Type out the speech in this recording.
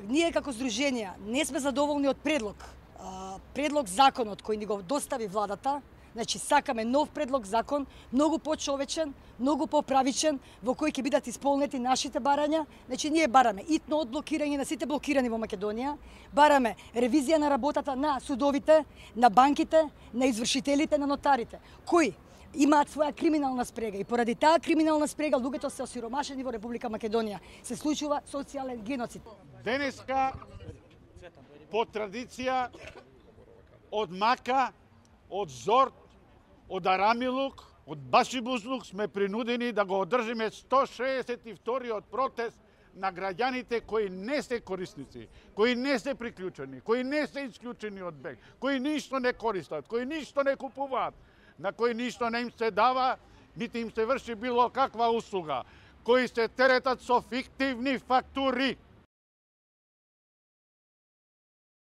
Ние како здруженија не сме задоволни од предлог законот кој ни го достави владата. Значи сакаме нов предлог закон, многу почовечен, многу поправичен, во кој ќе бидат исполнети нашите барања. Значи ние бараме итно одблокирање на сите блокирани во Македонија, бараме ревизија на работата на судовите, на банките, на извршителите, на нотарите, кои имаат своја криминална спрега и поради таа криминална спрега луѓето се осиромашени во Република Македонија. Се случува социјален геноцид. Денеска по традиција од Мака, од Зорт, од Арамилук, од Башибузлук сме принудени да го одржиме 162-иот протест на граѓаните кои не се корисници, кои не се приклучени, кои не се исклучени од БЕГ, кои ништо не користат, кои ништо не купуваат, на кои ништо не им се дава, нити им се врши било каква услуга, кои се теретат со фиктивни фактури.